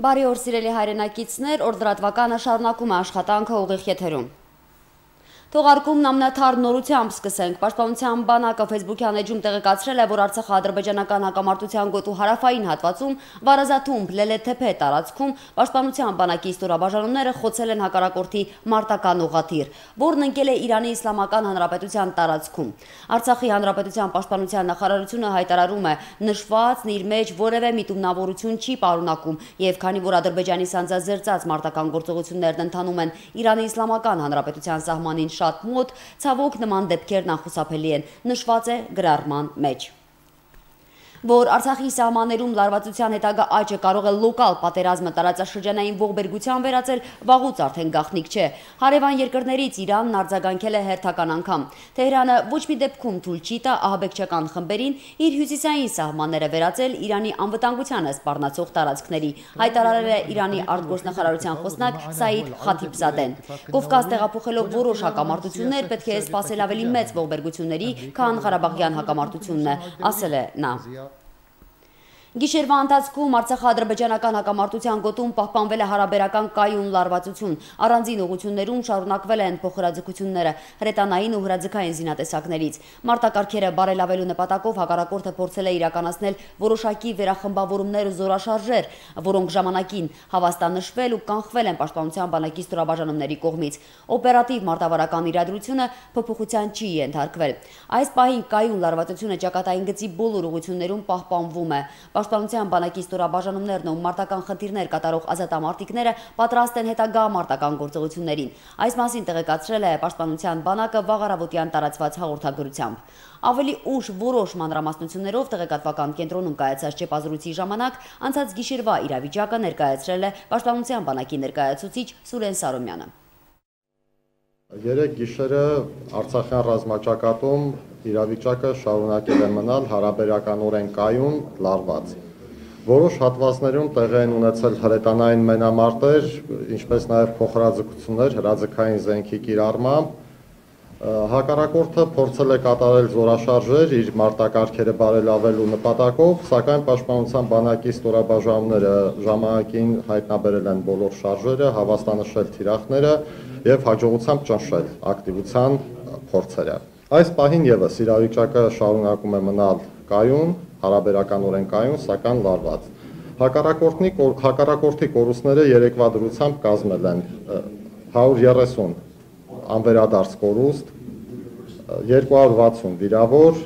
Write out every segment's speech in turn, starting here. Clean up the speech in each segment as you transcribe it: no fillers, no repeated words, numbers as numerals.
Բարի օր սիրելի հայրենակիցներ, օրդրատվականը շարունակում է աշխատանքը ուղիղ եթերում։ Թողարկումն ամենաթարմ նորությամբ սկսենք։ Պաշտպանության բանակը Facebook-յան էջում տեղեկացրել է, որ Արցախա-ադրբեջանական հակամարտության գոտու հարավային հատվածում Վարազաթումբ Լելեթեփե տարածքում պաշտպանության բանակի ստորաբաժանումները խոցել են հակառակորդի մարտական ուղղաթիռ, որն ընկել է Իրանի Իսլամական Հանրապետության տարածքում։ Արցախի Հանրապետության պաշտպանության նախարարությունը հայտարարում է, նշվածն իր մեջ որևէ միտումնավորություն չի պարունակում, եւ քանի որ Ադրբեջանի սանձազերծած մարտական գործողություններն ընթանում են Իրանի Իսլամական Հանրապետության սահմանին շատ մոտ, ցավոք նման դեպքերն անխուսափելի են, նշված է գրառման մեջ։ Որ Արցախի սահմաններում լարվածության հետագա աճը կարող է լոկալ պատերազմը տարածաշրջանային ողբերգության վերածել, վաղուց արդեն գաղտնիք չէ։ Հարևան երկրներից Իրանն արձագանքել է հերթական անգամ։ Թեհրանը ոչ մի դեպքում թույլ չի տա ահաբեկչական խմբերին իր հյուսիսային սահմանները վերածել Իրանի անվտանգությանը սպառնացող տարածքների, հայտարարել է Իրանի արտգործնախարարության խոսնակ Սաիդ Խաթիբզադեն։ Կովկաս տեղափոխելով որոշ հակամարտություններ պետք է սպասել ավելի մեծ ողբերգությունների, քան Ղարաբաղյան հակամարտությունն է, ասել է նա։ Գիշերվա ընթացքում Արցախա-ադրբեջանական հակամարտության գոտում պահպանվել է հարաբերական կայուն լարվածություն, առանձին ուղղություններում շարունակվել են փոխհրաձգությունները հրետանային ու հրաձգային զինատեսակներից։ Մարտակարգերը բարելավելու նպատակով հակառակորդը փորձել է իրականացնել որոշակի վերախմբավորումներ ու զորաշարժեր, որոնք ժամանակին հավաստանշվել ու կանխվել են պաշտպանության բանակի ստորաբաժանումների կողմից։ Օպերատիվ մարտավարական իրադրությունը փոփոխության չի ենթարկվել։ Այս պահին կայուն լարվածությունը ճակատային գծի բոլոր ուղղություններում պահպանվում է։ Պաշտպանության բանակի ստորաբաժանումներն ու մարտական խնդիրներ կատարող ազատամարտիկները պատրաստ են հետագա մարտական գործողություններին։ Այս մասին տեղեկացրել է Պաշտպանության բանակը վաղ առավոտյան տարածված հաղորդագրությամբ։ Ավելի ուշ որոշ մանրամասնություններով տեղեկատվական կենտրոնում կայացած ճեպազրույցի ժամանակ անցած գիշերվա իրավիճակը ներկայացրել է Պաշտպանության բանակի ներկայացուցիչ Սուրեն Սարոմյանը։ Երեկ գիշերը Արցախյան ռազմաճակատում իրավիճակը շարունակել է մնալ հարաբերականորեն կայուն, լարված։ Որոշ հատվածներում տեղի են ունեցել հրետանային մենամարտեր, ինչպես նաև փոխհրաձգություններ հրաձգային զենքի կիրառմամբ։ Հակառակորդը փորձել է կատարել զորաշարժեր իր մարտակարգերը բարելավելու նպատակով, սակայն Պաշտպանության բանակի ստորաբաժանումները ժամանակին հայտնաբերել են բոլոր շարժերը, հավաստանշել թիրախները եւ հաջողությամբ ճնշել ակտիվության փորձերը։ Այս պահին եւս իրավիճակը շարունակում է մնալ կայուն, հարաբերականորեն կայուն, սակայն լարված։ Հակառակորդի կորուստները երեկվա դրությամբ կազմել են 130 անվերադարձ կորուստ, 260 վիրավոր,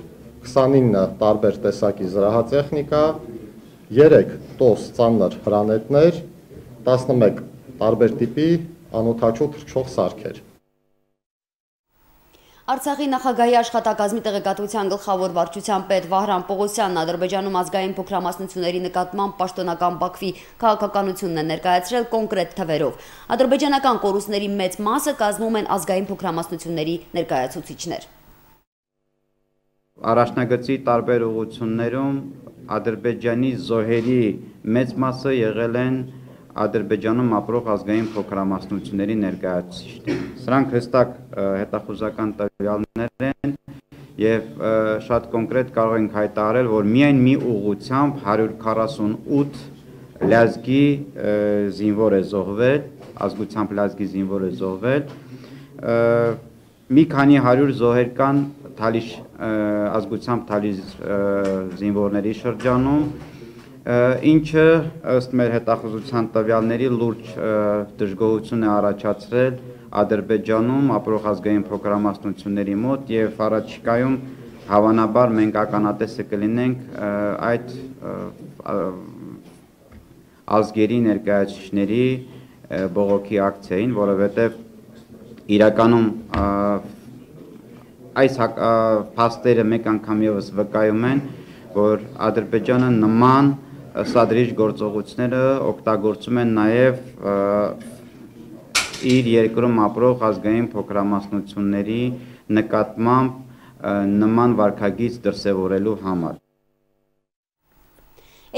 29 տարբեր տեսակի զրահատեխնիկա, 3 տոս ծանր հրանետներ, 11 տարբեր տիպի անօդաչու թռչող սարքեր։ Արցախի նախագահի աշխատակազմի տեղեկատվության գլխավոր վարչության պետ Վահրամ Պողոսյանն Ադրբեջանում ազգային փոքրամասնությունների նկատմամբ պաշտոնական Բաքվի քաղաքականությունն է ներկայացրել կոնկրետ թվերով։ Ադրբեջանական կորուստների մեծ մասը կազմում են ազգային փոքրամասնությունների ներկայացուցիչներ։ Առաջնագծի տարբեր ուղղություններում Ադրբեջանի զոհերի մեծ մասը եղել են Ադրբեջանում ապրող ազգային փոքրամասնությունների ներկայացուցիչներ։ Սրանք հստակ հետախուզական տվյալներ են եւ շատ կոնկրետ կարող ենք հայտարարել, որ միայն մի ուղղությամբ 148 լազգի զինվոր է զոհվել, ազգությամբ լազգի զինվոր է զոհվել, մի քանի 100 զոհեր կան Թալիշ ազգությամբ Թալիշ զինվորների շրջանում, ինչը ըստ մեր հետախուզության տվյալների լուրջ դժգոհություն է առաջացրել Ադրբեջանում ապրող ազգային փոքրամասնությունների մոտ եւ առաջիկայում հավանաբար մենք ականատեսը կլինենք այդ ազգերի ներկայացուցիչների բողոքի ակցիային, որովհետեւ իրականում այս փաստերը մեկ անգամ եւս վկայում են, որ Ադրբեջանը նման սադրիչ գործողությունները օգտագործում են նաև իր երկրում ապրող ազգային փոքրամասնությունների նկատմամբ նման վարքագիծ դրսևորելու համար։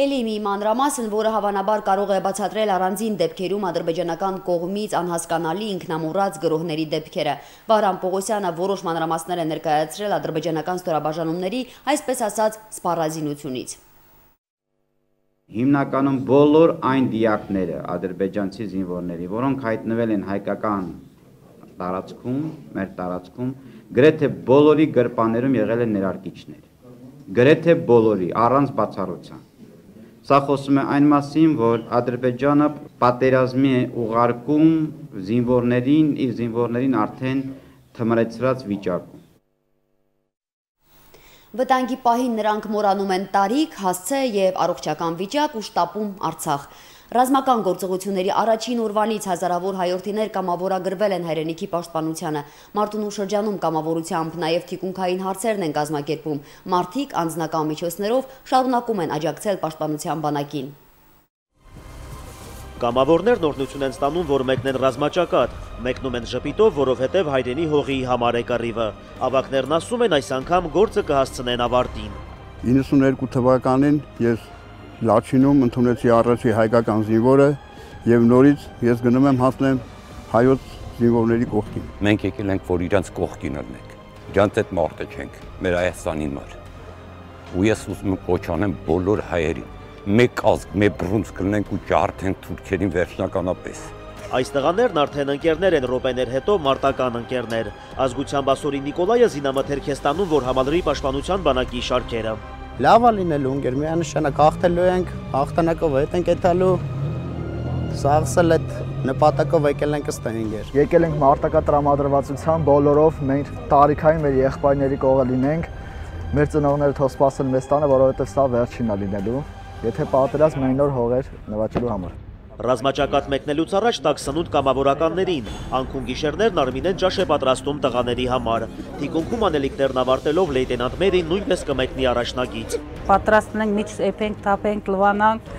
Էլի մի մանրամասն, որը հավանաբար կարող է բացատրել առանձին դեպքերում ադրբեջանական կողմից անհասկանալի ինքնամոռաց գրոհների դեպքերը։ Վահրամ Պողոսյանը որոշ մանրամասներ է ներկայացրել ադրբեջանական ստորաբաժանումների, այսպես ասած, սպառազինությունից։ Հիմնականում բոլոր այն դիակները ադրբեջանցի զինվորների, որոնք հայտնվել են հայկական տարածքում, մեր տարածքում, գրեթե բոլորի գրպաններում եղել են ներարկիչներ։ Գրեթե բոլորի, առանց բացառության։ Սա խոսում է այն մասին, որ Ադրբեջանը պատերազմի է ուղարկում զինվորներին, իր զինվորներին արդեն թմրեցրած վիճակում։ Վտանգի պահին նրանք մոռանում են տարիք, հասցե և առողջական վիճակ ու շտապում Արցախ։ Ռազմական գործողությունների առաջին օրվանից հազարավոր հայորդիներ կամավորագրվել են հայրենիքի պաշտպանությանը։ Մարտունու շրջանում կամավորությամբ նաև թիկունքային հարցերն են կազմակերպում։ Մարդիկ անձնական միջոցներով շարունակում են աջակցել պաշտպանության բանակին։ Կամավորներն օրհնություն են ստանում, որ մեկնեն ռազմաճակատ, մեկնում են ժպիտով, որովհետև հայրենի հողի համար է կռիվը։ Ավագներն ասում են, այս անգամ գործը կհասցնեն ավարտին։ 92 թվականին ես Լաչինում ընդունեցի առաջի հայկական զինվորը եւ նորից ես գնում եմ հասնեմ հայոց զինվորների կողքին։ Մենք եկել ենք, որ իրանց կողքին լինենք։ Իրանց այդ մարդը չենք, մեր Հայաստանի մար։ Ու ես ուզում եմ կոչ անեմ բոլոր հայերին։ Մեկ ազգ, մեկ բռունց կլինենք ու ջարդենք թուրքերին վերջնականապես։ Այս տղաներն արդեն ընկերներ են րոպեներ հետո մարտական ընկերներ։ Ազգությամբ ասորի Նիկոլայը զինամթերք է ստանում, որ համալրի պաշտպանության բանակի շարքերը։ Լավ է լինելու ընկեր, միանշանակ հաղթելու ենք, հաղթանակով հետ ենք եթալու, սաղսել այդ նպատակով եկել ենք ըստ ընկեր։ Եկել ենք մարտական տրամադրվածության բոլորով, մենք տարիքային մեր եղբայրների կողը լինենք, մեր ծնողները թող սպասեն մեզ տանը, որովհետև սա վերջինն է լինելու, եթե պատերազմ մենք նոր հողեր նվաճելու համար։ Ռազմաճակատ մեկնելուց առաջ տաք սնունդ կամավորականներին, անքուն գիշերներն Արմինեն ճաշ է պատրաստում տղաների համար։ Թիկունքում անելիքներն ավարտելով լեյտենանտ Մերին նույնպես կմեկնի առաջնագիծ։ Պատրաստում ենք միջ էփենք, թափենք, լվանանք,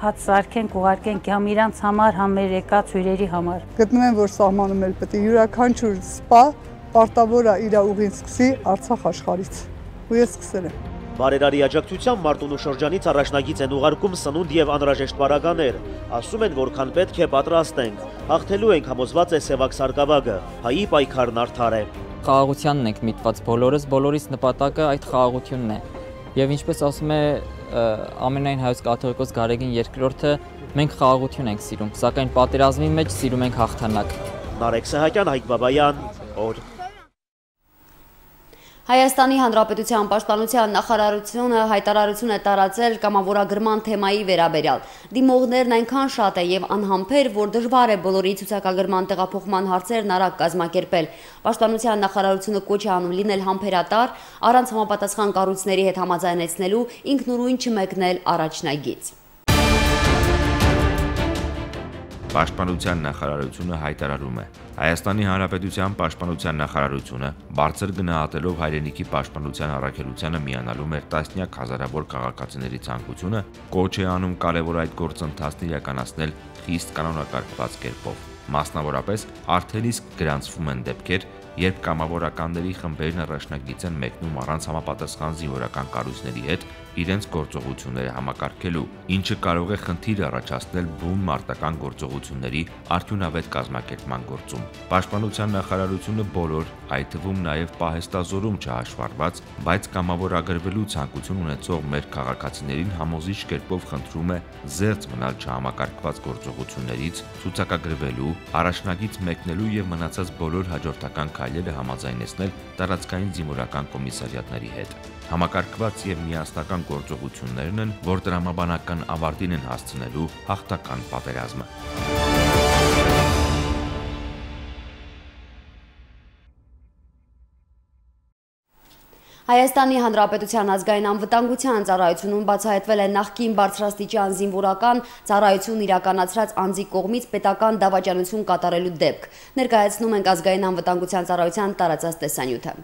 հաց սարքենք, ուղարկենք համ իրանց համար, համ մեր եկած հյուրերի համար։ Գտնում եմ, որ սահմանում էլ պետք է յուրաքանչյուր սպա պարտավոր է իր ուղին սկսի Արցախ աշխարհից։ Ու ես սկսել եմ։ Բարերարի աջակցությամբ Մարտունու շրջանից առաջնագիծ են ուղարկում սնունդ և անհրաժեշտ պարագաներ։ Ասում են, որքան պետք է պատրաստենք։ Հաղթելու ենք, համոզված է Սևակ Սարգսակը, հայի պայքարն արդար է։ Խաղաղությանն ենք միտված բոլորիս նպատակը այդ խաղաղությունն է։ Եվ ինչպես ասում է ամենայն հայոց կաթողիկոս Գարեգին II, մենք խաղաղություն ենք սիրում, սակայն պատերազմի մեջ սիրում ենք հաղթանակ։ Նարեկ Սահակյան, Հայկ Բաբայան, օր։ Հայաստանի Հանրապետության պաշտպանության նախարարությունը հայտարարություն է տարածել կամավորագրման թեմայի վերաբերյալ։ Դիմողներն այնքան շատ է եւ անհամբեր, որ դժվար է բոլորի ցուցակագրման տեղափոխման հարցերն արագ կազմակերպել։ Պաշտպանության նախարարությունը կոչ է անում լինել համբերատար, առանց համապատասխան կառույցների հետ համաձայնեցնելու, ինքնուրույն չմեկնել առաջնագիծ։ Պաշտպանության նախարարությունը հայտարարում է. Հայաստանի Հանրապետության պաշտպանության նախարարությունը բարձր գնահատելով հայրենիքի պաշտպանության առաքելությանը միանալու մեր տասնյակ հազարավոր քաղաքացիների ցանկությունը կոչ է անում կարևոր այդ գործընթացն իրականացնել խիստ կանոնակարգված կերպով։ Մասնավորապես արդեն իսկ գրանցվում են դեպքեր, երբ կամավորականների խմբերն առաջնագիծ են մեկնում առանց համապատասխան զինվորական կառույցների հետ իրենց գործողությունները համակարգելու, ինչը կարող է խնդիր առաջացնել բուն մարտական գործողությունների արդյունավետ կազմակերպման գործում։ Պաշտպանության նախարարությունը բոլոր, այդ թվում նաև պահեստազորում չհաշվառված, բայց կամավորագրվելու ցանկություն ունեցող մեր քաղաքացիներին համոզիչ կերպով խնդրում է զերծ մնալ չհամակարգված գործողություններից, ցուցակագրվելու, առաջնագիծ մեկնելու եւ մնացած բոլոր հաջորդական քայլերը համաձայնեցնել տարածքային զինվորական կոմիսարիատների հետ։ Համակարգված եւ միասնական գործողություններն են, որ տրամաբանական ավարտին են հասցնելու հաղթական պատերազմը։ Հայաստանի Հանրապետության ազգային անվտանգության ծառայությունում բացահայտվել է նախկին բարձրաստիճան զինվորական ծառայություն իրականացրած անձի կողմից պետական դավաճանություն կատարելու դեպք։ Ներկայացնում ենք ազգային անվտանգության ծառայության տարածած տեսանյութը։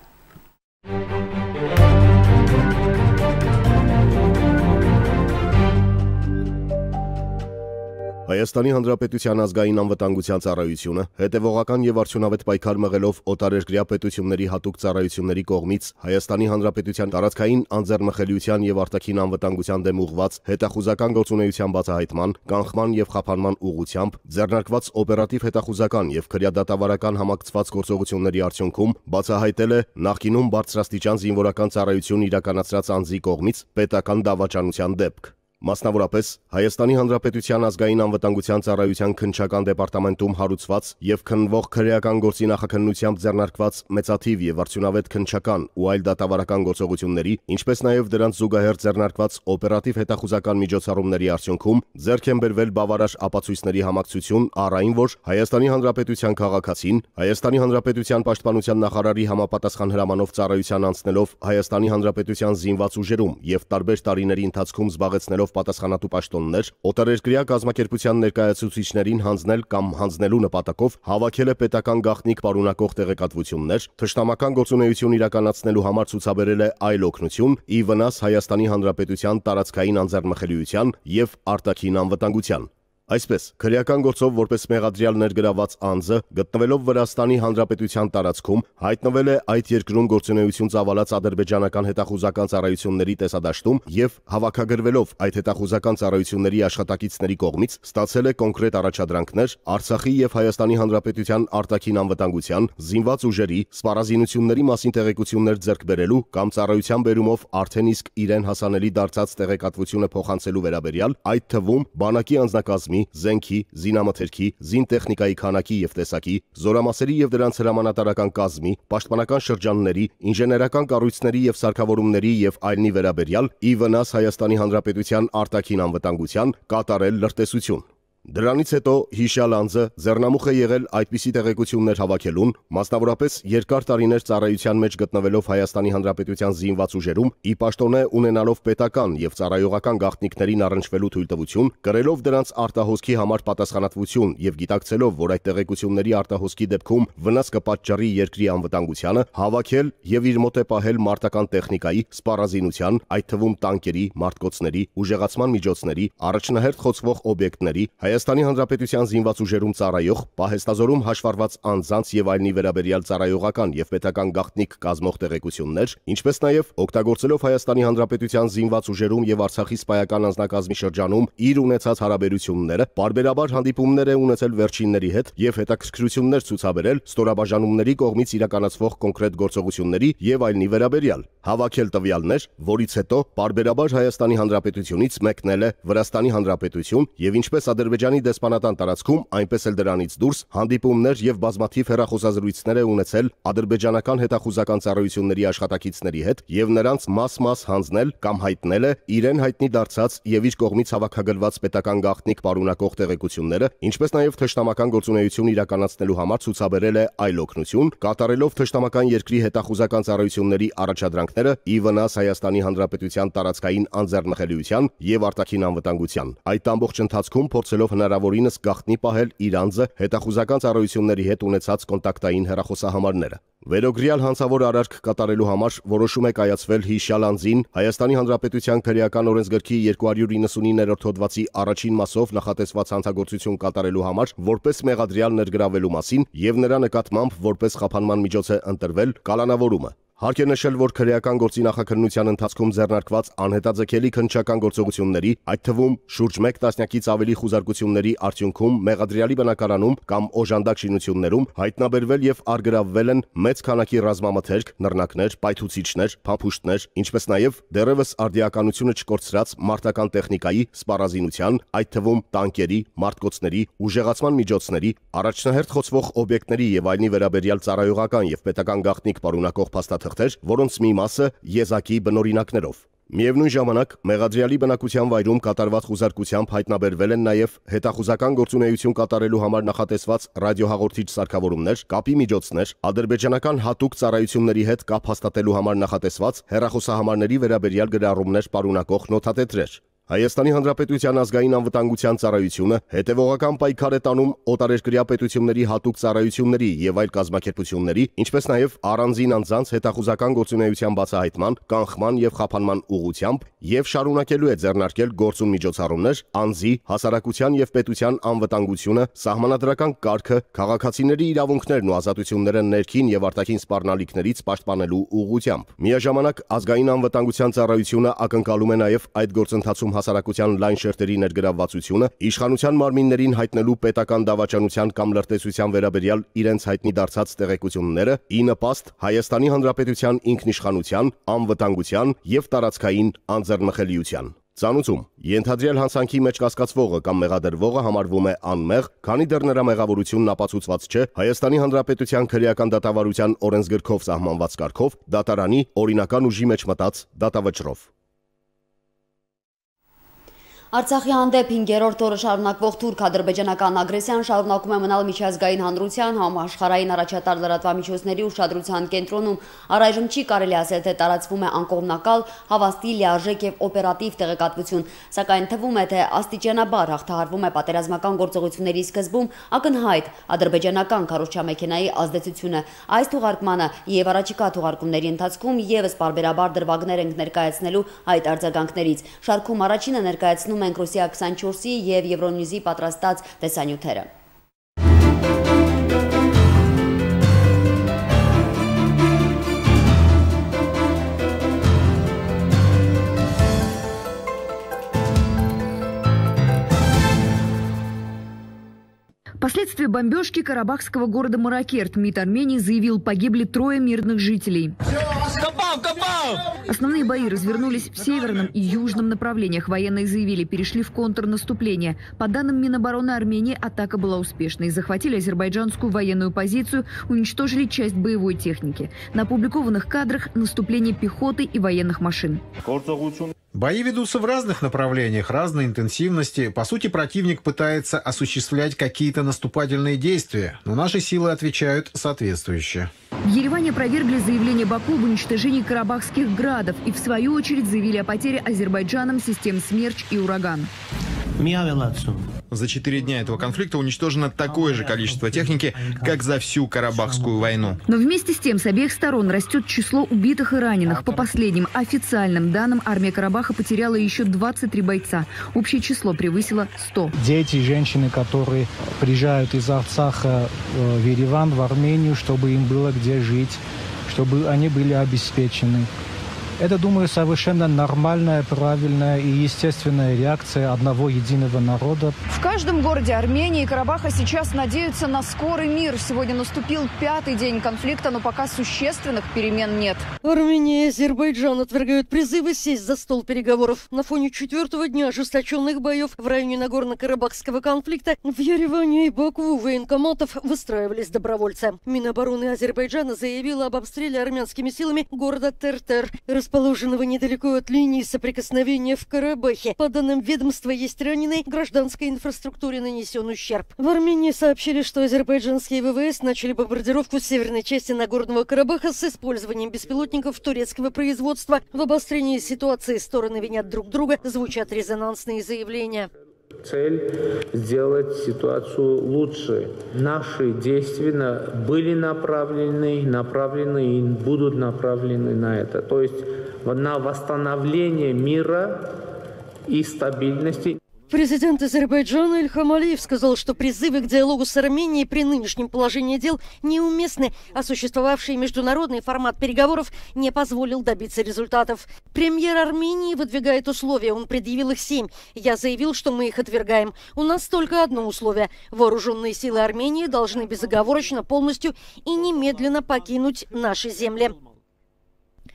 Հայաստանի Հանրապետության ազգային անվտանգության ծառայությունը հետևողական եւ արդյունավետ պայքար մղելով օտարերկրյա պետությունների հատուկ ծառայությունների կողմից Հայաստանի Հանրապետության տարածքային անձեռնմխելիության եւ արտաքին անվտանգության դեմ ուղղված հետախուզական գործունեության բացահայտման, կանխման եւ խափանման ուղղությամբ ձեռնարկված օպերատիվ հետախուզական եւ քրեադատավարական համակցված գործողությունների արդյունքում բացահայտել է նախկինում բարձրաստիճան զինվորական ծառայություն իրականացրած անձի կողմից պետական դավաճանության դեպք։ Մասնավորապես Հայաստանի Հանրապետության ազգային անվտանգության ծառայության քննչական դեպարտամենտում հարուցված եւ քննվող քրեական գործի նախաքննությամբ ձեռնարկված մեծաթիվ եւ արդյունավետ քննչական ու այլ դատավարական գործողությունների, ինչպես նաեւ դրանց զուգահեռ ձեռնարկված օպերատիվ հետախուզական միջոցառումների արդյունքում ձեռք են բերվել բավարար ապացույցների համակցություն առ այն, որ Հայաստանի Հանրապետության քաղաքացին Հայաստանի Հանրապետության պաշտպանության նախարարի համապատասխան հրամանով ծառայության անցնելով Հայաստանի Հանրապետության զինված ուժերում եւ տարբեր տարիների ընթացքում զբաղեցնելով պատասխանատու պաշտոններ, օտարերկրյա կազմակերպության ներկայացուցիչներին հանձնել կամ հանձնելու նպատակով հավաքել է պետական գաղտնիք պարունակող տեղեկատվություններ, թշնամական գործունեություն իրականացնելու համար ցուցաբերել է այլ օգնություն, ի վնաս Հայաստանի Հանրապետության տարածքային անձեռնմխելիության եւ արտաքին անվտանգության։ Այսպես, քրեական գործով որպես մեղադրյալ ներգրաված անձը, գտնվելով Վրաստանի Հանրապետության տարածքում, հայտնվել է այդ երկրում գործունեություն ծավալած ադրբեջանական հետախուզական ծառայությունների տեսադաշտում եւ հավաքագրվելով այդ հետախուզական ծառայությունների աշխատակիցների կողմից ստացել է կոնկրետ առաջադրանքներ Արցախի եւ Հայաստանի Հանրապետության արտաքին անվտանգության, զինված ուժերի, սպառազինությունների մասին տեղեկություններ ձեռք բերելու կամ ծառայության բերումով արդեն իսկ իրեն հասանելի դարձած տեղեկատվությունը փոխանցելու վերաբերյալ, այդ թվում բանակի անձնակազմի, զենքի, զինամթերքի, զինտեխնիկայի քանակի եւ տեսակի, զորամասերի եւ դրանց հրամանատարական կազմի, պաշտպանական շրջանների, ինժեներական կառույցների եւ սարքավորումների եւ այլնի վերաբերյալ ի վնաս Հայաստանի Հանրապետության արտաքին անվտանգության կատարել լրտեսություն։ Դրանից հետո հիշյալ անձը ձեռնամուխ է եղել այդպիսի տեղեկություններ հավաքելուն, մասնավորապես երկար տարիներ ծառայության մեջ գտնվելով Հայաստանի Հանրապետության զինված ուժերում, ի պաշտոնե ունենալով պետական եւ ծառայողական գաղտնիքներին առնչվելու թույլտվություն, կրելով դրանց արտահոսքի համար պատասխանատվություն եւ գիտակցելով, որ այդ տեղեկությունների արտահոսքի դեպքում վնաս կպատճառի երկրի անվտանգությանը, հավաքել եւ իր մոտ է պահել մարտական տեխնիկայի, սպառազինության, այդ թվում տանկերի, մարտկոցների, ուժեղացման միջոցների, առաջնահերթ խոցվող օբյեկտների, Հայաստանի Հանրապետության զինված ուժերում ծառայող, պահեստազորում հաշվառված անձանց եւ այլնի վերաբերյալ ծառայողական եւ պետական գաղտնիք կազմող տեղեկություններ, ինչպես նաեւ օգտագործելով Հայաստանի Հանրապետության զինված ուժերում եւ Արցախի սպայական անձնակազմի շրջանում իր ունեցած հարաբերությունները, պարբերաբար հանդիպումներ է ունեցել վերջինների հետ եւ հետաքրքրություններ ցուցաբերել ստորաբաժանումների կողմից իրականացվող կոնկրետ գործողությունների եւ այլնի վերաբերյալ, հավաքել տվյալներ, որից հետո պարբերաբար Հայաստանի Հանրապետությունից մեկնել է Վրաստանի Հանրապետություն եւ ինչպես Ադրբեջանի դեսպանատան տարածքում, այնպես էլ դրանից դուրս հանդիպումներ եւ բազմաթիվ հեռախոսազրույցներ է ունեցել ադրբեջանական հետախուզական ծառայությունների աշխատակիցների հետ եւ նրանց մաս-մաս հանձնել կամ հայտնել է իրեն հայտնի դարձած եւ իր կողմից հավաքագրված պետական գաղտնիք պարունակող տեղեկությունները, ինչպես նաեւ թշնամական գործունեություն իրականացնելու համար ցուցաբերել է այլ օգնություն, կատարելով թշնամական երկրի հետախուզական ծառայությունների առաջադրանքները ի վնաս Հայաստանի Հանրապետության տարածքային անձեռնմխելիության եւ արտաքին անվտանգության։ Այդ ամբողջ ընթացքում փորձելով հնարավորինս գաղտնի պահել իր անձը հետախուզական ծառայությունների հետ ունեցած կոնտակտային հեռախոսահամարները։ Վերոգրյալ հանցավոր արարք կատարելու համար որոշում է կայացվել հիշյալ անձին Հայաստանի Հանրապետության քրեական օրենսգրքի 299-րդ հոդվածի առաջին մասով նախատեսված հանցագործություն կատարելու համար որպես մեղադրյալ ներգրավելու մասին եւ նրա նկատմամբ որպես խափանման միջոց է ընտրվել կալանավորումը։ Հարկ է նշել, որ քրեական գործի նախաքննության ընթացքում ձեռնարկված անհետաձգելի քննչական գործողությունների, այդ թվում շուրջ 1 տասնյակից ավելի խուզարկությունների արդյունքում մեղադրյալի բնակարանում կամ օժանդակ շինություններում հայտնաբերվել եւ առգրավվել են մեծ քանակի ռազմամթերք, նռնակներ, պայթուցիչներ, փամփուշտներ, ինչպես նաեւ դեռևս արդիականությունը չկորցրած մարտական տեխնիկայի, սպառազինության, այդ թվում տանկերի, մարտկոցների, ուժեղացման միջոցների, առաջնահերթ խոցվող օբյեկտների եւ այլնի վերաբերյալ ծառայողական եւ պետական գաղտնիք պարունակող փաստաթղթեր, որոնց մի մասը եզակի բնօրինակներով։ Միևնույն ժամանակ մեղադրյալի բնակության վայրում կատարված խուզարկությամբ հայտնաբերվել են նաև հետախուզական գործունեություն կատարելու համար նախատեսված ռադիոհաղորդիչ սարքավորումներ, կապի միջոցներ, ադրբեջանական հատուկ ծառայությունների հետ կապ հաստատելու համար նախատեսված հեռախոսահամարների վերաբերյալ գրառումներ պարունակող նոթատետրեր։ Հայաստանի Հանրապետության ազգային անվտանգության ծառայությունը հետևողական պայքար է տանում օտարերկրյա պետությունների հատուկ ծառայությունների եւ այլ կազմակերպությունների, ինչպես նաեւ առանձին անձանց հետախուզական գործունեության բացահայտման, կանխման եւ խափանման ուղղությամբ եւ շարունակելու է ձեռնարկել գործուն միջոցառումներ անձի, հասարակության եւ պետության անվտանգությունը, սահմանադրական կարգը, քաղաքացիների իրավունքներն ու ազատությունները ներքին եւ արտաքին սպառնալիքներից պաշտպանելու ուղղությամբ։ Միաժամանակ ազգային անվտանգության ծառայությունը ակնկալում է նաեւ այդ գործընթացում հասարակության լայն շերտերի ներգրավվածությունը, իշխանության մարմիններին հայտնելու պետական դավաճանության կամ լրտեսության վերաբերյալ իրենց հայտնի դարձած տեղեկությունները ի նպաստ Հայաստանի Հանրապետության ինքնիշխանության, անվտանգության եւ տարածքային անձեռնմխելիության։ Ծանուցում ենթադրյալ հանցանքի մեջ կասկածվողը կամ մեղադրվողը համարվում է անմեղ, քանի դեռ նրա մեղավորությունն ապացուցված չէ Հայաստանի Հանրապետության քրեական դատավարության օրենսգրքով սահմանված կարգով դատարանի օրինական ուժի մեջ մտած դատավճռով։ Արցախի հանդեպ 5-րդ օրը շարունակվող թուրք-ադրբեջանական ագրեսիան շարունակում է մնալ միջազգային հանրության, համաշխարհային առաջատար լրատվամիջոցների ուշադրության կենտրոնում։ Առայժմ չի կարելի ասել, թե տարածվում է անկողմնակալ, հավաստի, լիարժեք եւ օպերատիվ տեղեկատվություն, սակայն թվում է, թե աստիճանաբար հաղթահարվում է պատերազմական գործողությունների սկզբում ակնհայտ ադրբեջանական քարոզչամեքենայի ազդեցությունը։ Այս թողարկմանը եւ առաջիկա թողարկումների ընթացքում եւս պարբերաբար դրվագներ ենք ներկայացնելու այդ արձագանքներից։ Շարքում առաջինը ներկայացնում ենք Ռուսիա 24-ի եւ Եվրոնյուզի պատրաստած տեսանյութերը։ Последствия бомбежки карабахского города Маракерт МИД Армении заявил, погибли 3 мирных жителей. Основные бои развернулись в северном и южном направлениях. Военные заявили, перешли в контрнаступление. По данным Минобороны Армении, атака была успешной. Захватили азербайджанскую военную позицию, уничтожили часть боевой техники. На опубликованных кадрах наступление пехоты и военных машин. Бои ведутся в разных направлениях, разной интенсивности. По сути, противник пытается осуществлять какие-то наступательные действия, но наши силы отвечают соответствующе. В Ереване опровергли заявление Баку об уничтожении карабахских градов и в свою очередь заявили о потере Азербайджаном систем «Смерч» и «Ураган». За 4 дня этого конфликта уничтожено такое же количество техники, как за всю Карабахскую войну. Но вместе с тем с обеих сторон растет число убитых и раненых. По последним официальным данным, армия Карабаха потеряла еще 23 бойца. Общее число превысило 100. Дети и женщины, которые приезжают из Арцаха в Ереван, в Армению, чтобы им было где жить, чтобы они были обеспечены. Это, думаю, совершенно нормальная, правильная и естественная реакция одного единого народа. В каждом городе Армении и Карабаха сейчас надеются на скорый мир. Сегодня наступил 5-й день конфликта, но пока существенных перемен нет. Армения и Азербайджан отвергают призывы сесть за стол переговоров. На фоне 4-го дня ожесточенных боев в районе Нагорно-Карабахского конфликта в Ереване и Баку у военкоматов выстраивались добровольцы. Минобороны Азербайджана заявила об обстреле армянскими силами города Тертер, расположенного недалеко от линии соприкосновения в Карабахе. По данным ведомства, есть раненые, гражданской инфраструктуре нанесен ущерб. В Армении сообщили, что азербайджанские ВВС начали бомбардировку северной части Нагорного Карабаха с использованием беспилотников турецкого производства. В обострении ситуации стороны винят друг друга, звучат резонансные заявления. Цель – сделать ситуацию лучше. Наши действия были направлены и будут направлены на это. То есть на восстановление мира и стабильности. Президент Азербайджана Ильхам Алиев сказал, что призывы к диалогу с Арменией при нынешнем положении дел неуместны, а существовавший международный формат переговоров не позволил добиться результатов. Премьер Армении выдвигает условия, он предъявил их 7. Я заявил, что мы их отвергаем. У нас только одно условие. Вооруженные силы Армении должны безоговорочно, полностью и немедленно покинуть наши земли.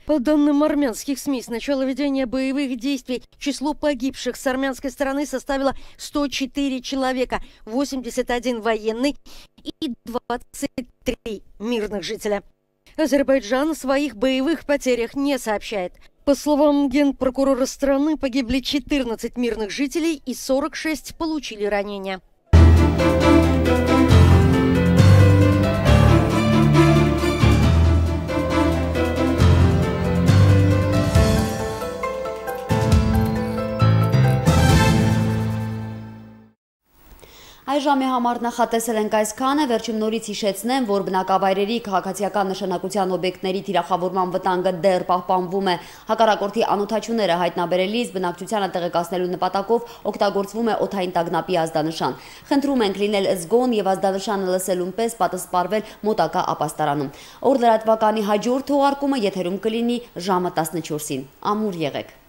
По данным армянских СМИ, с начала ведения боевых действий число погибших с армянской стороны составило 104 человека, 81 военный и 23 мирных жителя. Азербайджан о своих боевых потерях не сообщает. По словам генпрокурора страны, погибли 14 мирных жителей и 46 получили ранения. Այս ժամի համար նախատեսել ենք այսքանը, վերջում նորից հիշեցնեմ, որ բնակավայրերի քաղաքացիական նշանակության օբյեկտների թիրախավորման վտանգը դեռ պահպանվում է։ Հակառակորդի անօթաչուները հայտնաբերելիս բնակչությանը տեղեկացնելու նպատակով օգտագործվում է օդային տագնապի ազդանշան։ Խնդրում ենք լինել զգոն եւ ազդանշանը լսելուն պես պատասպարվել մոտակա ապաստարանում։ Օր լրատվականի հաջորդ թողարկումը եթերում կլինի ժամը 14-ին։ Ամուր եղեք։